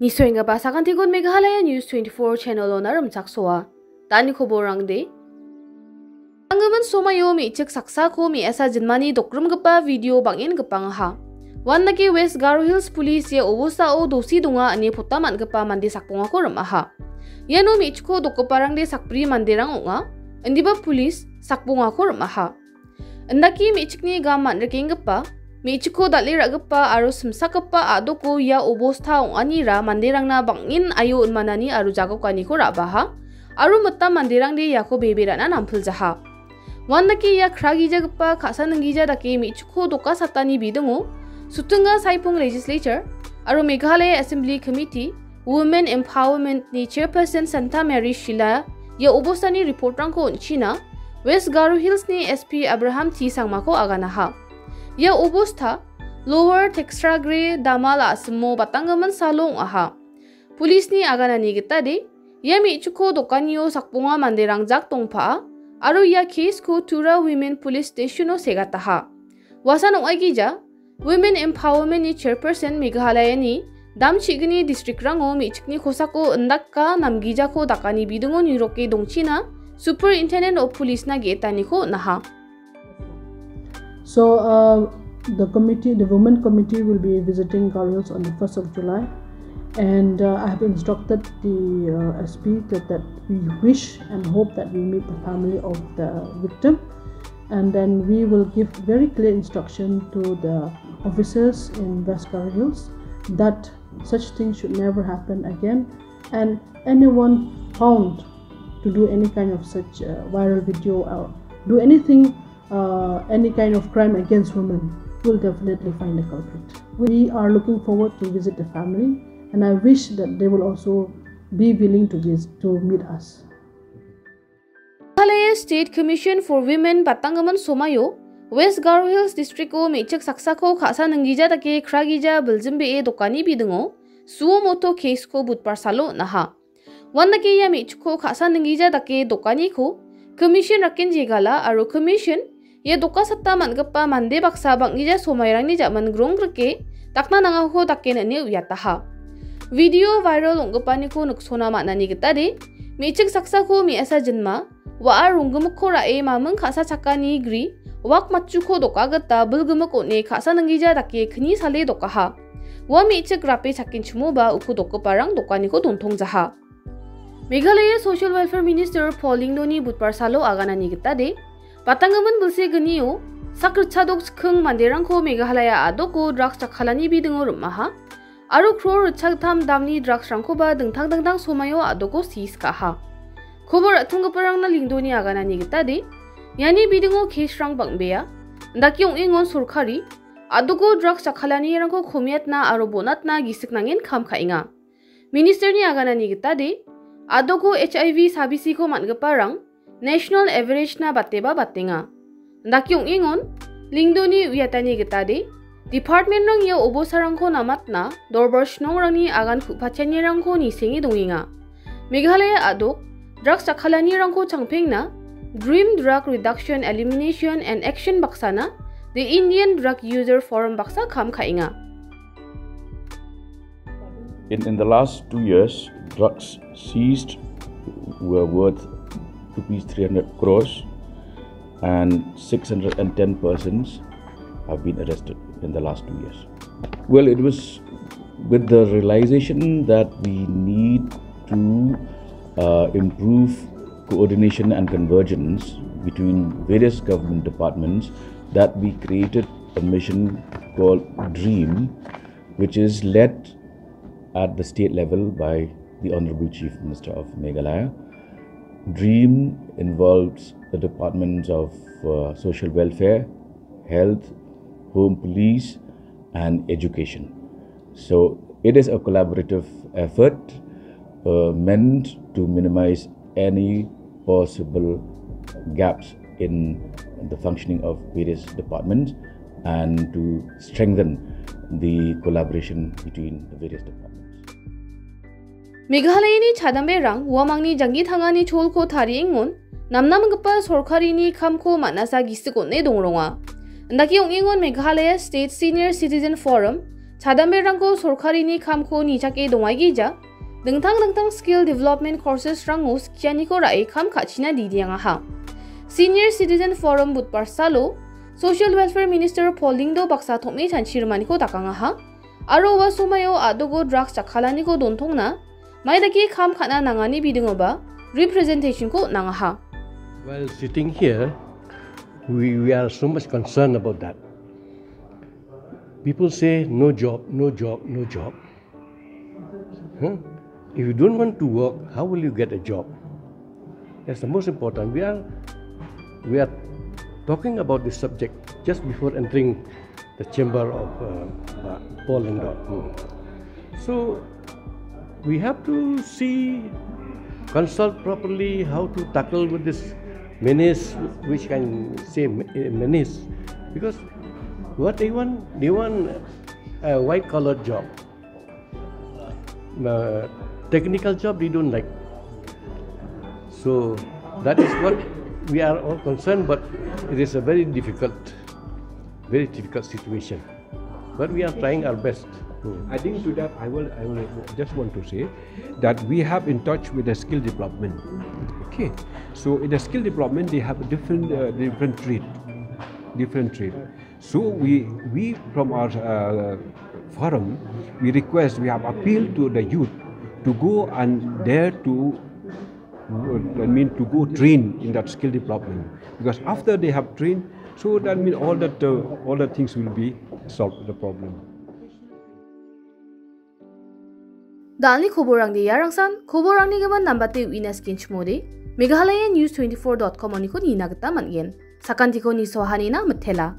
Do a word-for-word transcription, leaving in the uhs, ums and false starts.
Nisoenggipa sakantikon Meghalaya News twenty-four channel-ona rimchaksoa. Dani koborangde. Anggimin somaio me·chik saksako me·asa jinmani dokrimgipa video bang·en gipangaha. Uandake West Garo Hills Police ia obostao dosi donga ine pota man·gipa mande sakbongako rim·aha. Iano me·chikko dokgiparangde sakbri manderang ong·a, indiba police sakbongako rim·aha. Indake me·chikni gam man·rikenggipa, me·chikko dal·e ra·gipa aro simsakgipa a·doko ia obosta ong·anira manderangna bang·en aio inmanani aro jagokaniko ra·baha, aro mitam manderangde iako bebe ra·na nampiljaha. Uandake ia kragijagipa ka·sa ninggija dake me·chikko doka satani bidingo, Sutinga Saipung Legislature aro Meghalaya Assembly Committee, Women Empowerment-ni Chairperson Santa Mary Shila ia obostani report-rangko on·china West Garo Hills-ni S P Abraham T Sangmako aganaha. Ia obosta Lower Teksragre Damal a·simo batanggimin salo ong·aha. Police-ni aganani gitade, ia me·chikko dokanio sakbonga manderang jak dongpa'a aro ia case-ko Tura Women Police Station-o segataha. Uasan ong·aigija, Women Empowerment-ni Chairperson Meghalaya-ni dam chi·gni district-rango me·chikni kosako indaka namgijako dakani bidingo niroke dongchina Superintendent of Police-na ge·etaniko on·aha. So, uh, the committee, the women committee will be visiting Garo Hills on the first of July. And, uh, I have instructed the, uh, S P that, that we wish and hope that we meet the family of the victim. And then we will give very clear instruction to the officers in West Garo Hills that such things should never happen again. And anyone found to do any kind of such, uh, viral video or do anything, uh, any kind of crime against women, will definitely find a culprit. We are looking forward to visit the family, and I wish that they will also be willing to vis-, to meet us. Meghalaya State Commission for Women batanggimin somaio West Garo Hills District-o me·chik saksako ka·sa ninggija dake kragija biljimbee dokani bidingo suo moto case-ko Budbar salo on·aha. Uandake ia me·chikko ka·sa ninggija dake dokaniko Commission raken jegala aro Commission ia doka sata man·gipa mande baksa bang·gija somairangni ja·man gronggrike dakna nangako daken ine uiataha. Video viral ong·gipaniko niksona man·ani gitade, me·chik saksako me·asa jinma, wa·a ronggimikko ra·e maming ka·sa chakani gri, wak matchuko doka gita bilgimik on·e ka·sa ninggija dake kni sale dokaha. Ua me·chik rape chakenchimoba uko dokgiparang dokaniko dontongjaha. Meghalaya Social Welfare Minister Paul Lyngdoh-ni Budbar salo aganani gitade, batanggimin bilse gnio sak ritchadok chikking manderangko Meghalaya a·doko drugs jakkalani bidingo rim·aha, aro crore ritchagittam damni drugs-rangkoba dingtang dingtang somaio a·doko seize ka·aha. Kobor ra·tonggiparangna Lyngdoh-ni aganani gitade, iani bidingo case-rang bang·bea, indake ong·engon sorkari a·doko drugs jakkalanirangko komiatna aro bonatna gisik nangen kam ka·enga. Minister-ni aganani gitade, a·doko H I V sabisiko man·giparang national average-na bateba batenga. Indake ong·engon, Lyngdoh-ni uiatani gitade, department-rang ia obosarangko namatna dorbar shnongrangni agan ku·patianirangko nisenge dongenga. Meghalaya a·dok drugs jakkalanirangko changpengna DREAM Drug Reduction, Elimination and Action baksana The Indian Drug User Forum baksa kam ka·enga. In, in the last two years, drugs seized were worth rupees three hundred crores, and six hundred and ten persons have been arrested in the last two years. Well, it was with the realization that we need to, uh, improve coordination and convergence between various government departments that we created a mission called DREAM, which is led at the state level by the Honorable Chief Minister of Meghalaya. DREAM involves the departments of, uh, social welfare, health, home police, and education. So it is a collaborative effort, uh, meant to minimize any possible gaps in the functioning of various departments and to strengthen the collaboration between the various departments. Meghalayani chadamberang uamangni janggi tangani cholko tariengon namnamgipa sorkarini kamko man·asa gisik on·e dongronga. Indake ong·engon Meghalaya State Senior Citizen Forum, Chadamberangko sorkarini kamko nichake dongaigija, dingtang dingtang skill development courses-rango skianiko ra·e kam ka·china didiangaha. Senior Citizen Forum Budbar salo Social Welfare Minister Paul Lyngdoh baksa tom·e chanchi rimaniko dakangaha. Aro ua somaio a·dogo drugs jakkalaniko dontongna maidake kam ka·na nangani bidingoba representation-ko nangaha. While sitting here, we, we are so much concerned about that. People say, "No job, no job, no job." Huh? If you don't want to work, how will you get a job? That's the most important. We are, we are talking about this subject just before entering the chamber of, uh, uh, Paul Lyngdoh. Hmm. So, we have to see, consult properly how to tackle with this menace, which can say me-, menace, because what they want, they want a white collar job. Uh, technical job they don't like. So that is what we are all concerned, but it is a very difficult, very difficult situation. But we are trying our best. Hmm. Adding to that, I will, I will just want to say that we have in touch with the skill development. Okay, so in the skill development, they have a different, uh, different trade, different trade. So we, we from our, uh, forum, we request, we have appealed to the youth to go and dare to, uh, I mean, to go train in that skill development. Because after they have trained, so that mean all that, uh, all the things will be solved, the problem. Dalni koborangde iarangsan, koborangni gimin nambate uina skenchimode, Meghalaya News twenty-four dot com oniko nina gita man·gen. Sakantiko nisoahanina mitela.